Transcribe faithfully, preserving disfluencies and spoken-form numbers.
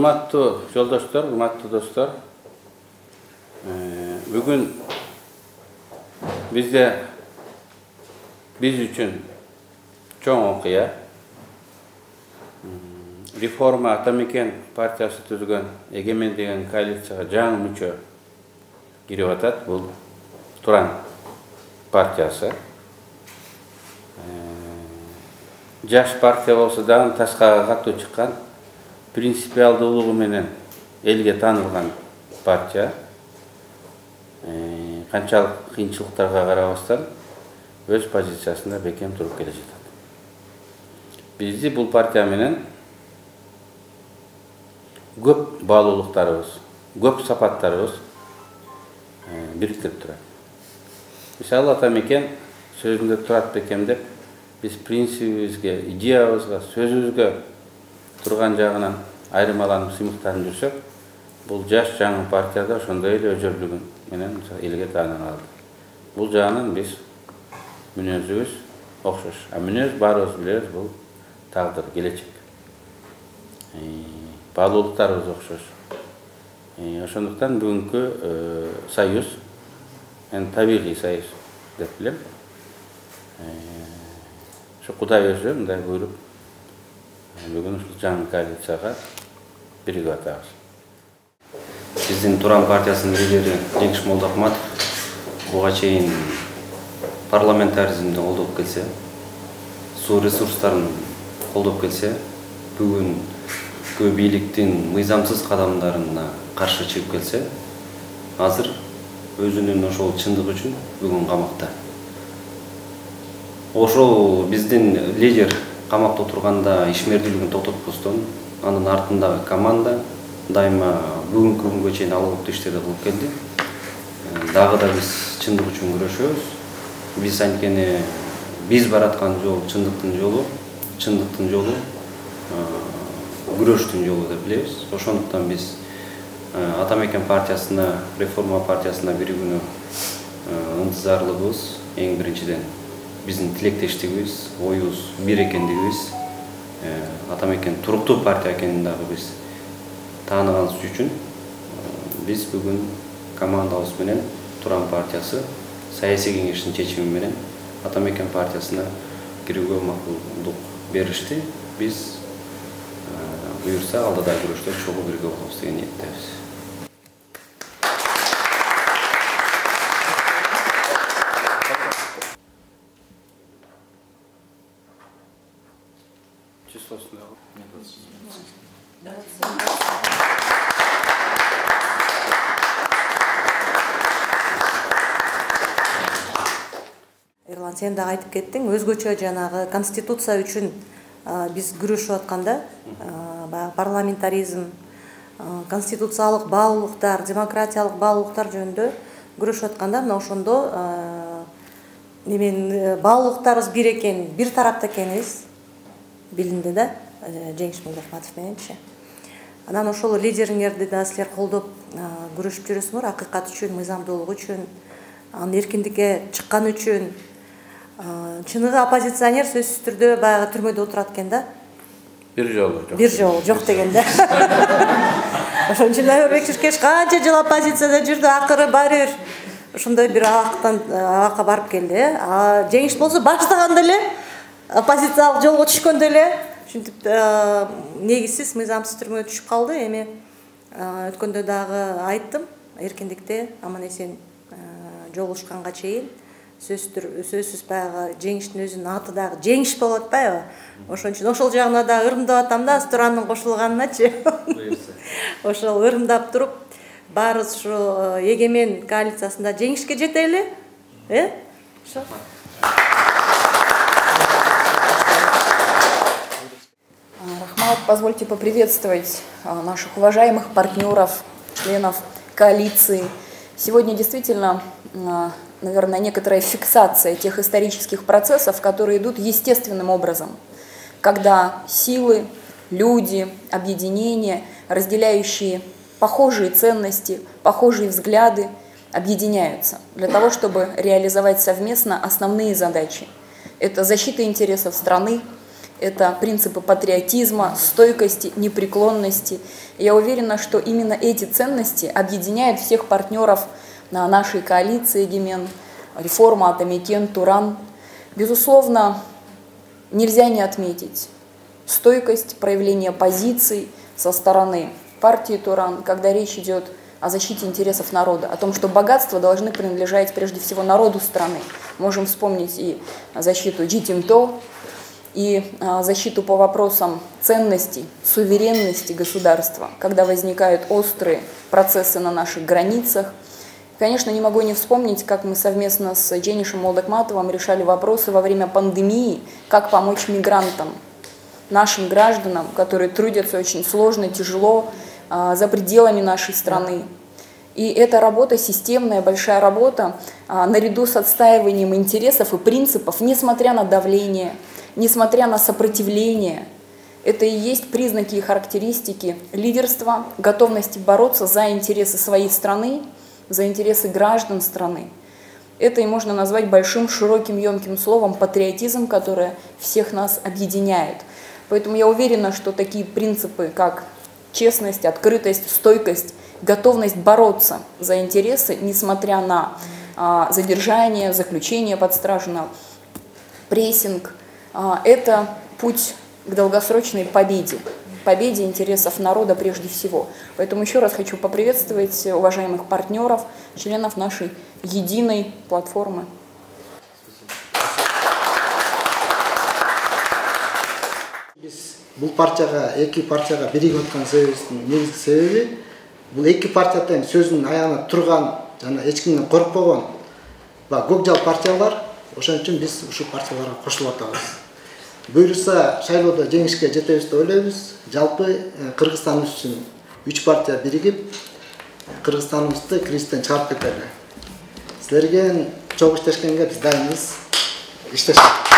Урматтуу жолдоштор, урматтуу достор, бүгүн бизде биз үчүн чоң окуя. Реформа Атамекен партиясы түзгөн Эгемен деген коалицияга жаңы мүчө кирип атат. Бул Туран партиясы. Жаш партия болсо дагы ташкага катуу чыккан, принципиалдуулугу менен элге таанылган партия. Канчалык кыйынчылыктарга карабастан өз позициясында бекем туруп келе жатат. Бизди бул партия менен көп баалуулуктарыбыз, көп сапаттарыбыз бириктирип турат. Мисалы, Атамекен сөзүндө турат бекем деп, биз принцибибизге, идеябызга, сөзүбүзгө турган жагынан айырмаланып сыймыктанып жүрсөк, бул жаш жаңы партияда ошондой эле өжөлдүгүн менен элге таанына алды. Бул жагынан биз мүнөзүбүз окшош. А мүнөз баарыбыз билебиз, бул тагдыр, келечек. Баалуулуктарыбыз окшош. Ошондуктан бүгүнкү союз, мен табигый союз деп билем. Ошо Кудай өзү мындай буйруп, бүгүн ушул жаңы коалицияга биригип атабыз. Биздин Туран партиясынын лидери Жеңиш Молдохматов буга чейин парламентаризмди колдоп келсе, суу ресурстарын колдоп келсе, бүгүнкү бийликтин мыйзамсыз кадамдарына каршы чыгып келсе, азыр өзүнүн ошол чындыгы үчүн бүгүн камакта. Ошол биздин лидер камакта отурганда ишмердүүлүгүн токтотпостон, анын артындагы команда дайыма бүгүнкү күнгө чейин алгылыктуу иштерди кылып келди. Дагы да биз чындык үчүн күрөшөбүз. Биз анткени биз бараткан жол чындыктын жолу, чындыктын жолу күрөштүн жолу деп билебиз. Ошондуктан биз Атамекен партиясына, реформа партиясына биригүүнү ынтызарлыгыбыз эң биринчиден биздин тилектештигибиз, оюбуз бир экендигибиз, Атамекен туруктуу партия экенин дагы биз тааныганыбыз үчүн биз бүгүн командабыз менен Туран партиясы саясий кеңештин чечими менен Атамекен партиясына кирүүгө макулдук беришти. Биз буюрса алдыда күрөштө чогуу бирге болобуз деген ниеттебиз. Эрлан, сен дагы айтып кеттиң, өзгөчө жанагы конституция үчүн биз күрөшүп атканда, парламентаризм, конституциялык баалуулуктар, демократиялык баалуулуктар жөнүндө күрөшүп атканда, мына ошондо немен баалуулуктарыбыз бир экен, бир тарапта экенибиз билинди да, Жеңиш Молдохматов мененчи. Анан ошол лидериңерди да силер колдоп күрөшүп жүрөсүңөр, акыйкат үчүн, мыйзамдуулук үчүн, анын эркиндикке чыккан үчүн. Чыныгы оппозиционер сөзсүз түрдө баягы түрмөдө отурат экен да. Бир жолу жок. Бир жолу жок деген да. Ошон үчүн Айбек Чиркеш канча жыл оппозицияда жүрдү, акыры баары бир ошондой бир абактан абакка барып келди. А Жеңиш болсо баштаганда эле оппозициялык жолго түшкөндө эле ушинтип негизсиз мыйзамсыз түрмөгө түшүп калды. Эми өткөндө дагы айттым, эркиндикте аман эсен жолугушканга чейин сөзсүз баягы Жеңиштин өзүнүн аты дагы Жеңиш болуп атпайбы? Ошон үчүн ошол жагына дагы ырымдап атам да, Туранын кошулганычы. Ошол ырымдап туруп, баарыбыз ушу Эгемен коалициясында жеңишке жетели, э? Ошо. Рахмат, позвольте поприветствовать наших уважаемых партнеров, членов коалиции. Сегодня действительно, наверное, некоторая фиксация тех исторических процессов, которые идут естественным образом, когда силы, люди, объединения, разделяющие похожие ценности, похожие взгляды, объединяются для того, чтобы реализовать совместно основные задачи. Это защита интересов страны, это принципы патриотизма, стойкости, непреклонности. Я уверена, что именно эти ценности объединяют всех партнеров на нашей коалиции «Егемен», реформа, Атамекен, Туран. Безусловно, нельзя не отметить стойкость, проявление позиций со стороны партии Туран, когда речь идет о защите интересов народа, о том, что богатства должны принадлежать прежде всего народу страны. Можем вспомнить и защиту Джитимто, и защиту по вопросам ценностей, суверенности государства, когда возникают острые процессы на наших границах. Конечно, не могу не вспомнить, как мы совместно с Дженишем Молдокматовым решали вопросы во время пандемии, как помочь мигрантам, нашим гражданам, которые трудятся очень сложно, тяжело, за пределами нашей страны. И эта работа, системная, большая работа, наряду с отстаиванием интересов и принципов, несмотря на давление, несмотря на сопротивление, это и есть признаки и характеристики лидерства, готовности бороться за интересы своей страны, за интересы граждан страны. Это и можно назвать большим, широким, емким словом патриотизм, которое всех нас объединяет. Поэтому я уверена, что такие принципы, как честность, открытость, стойкость, готовность бороться за интересы, несмотря на а, задержание, заключение под стражу, на прессинг, а, это путь к долгосрочной победе, победе интересов народа прежде всего. Поэтому еще раз хочу поприветствовать уважаемых партнеров, членов нашей единой платформы. Бұл партияға, эки партияға биригип аткан себебибиздин негизги себеби бул эки партия тең сөзүнүн аягына турган жана эч кимден коркпогон көк жал партиялар. Ошон үчүн биз ушул партияларга кошулуп атабыз. Буюрса шайлоодо жеңишке жетебиз деп ойлойбуз. Жалпы Кыргызстаныбыз үчүн үч партия биригип Кыргызстаныбызды кризистен чыгарып кетели. Силерге чогуу иштешкенге биз дайынбыз. Иштешет.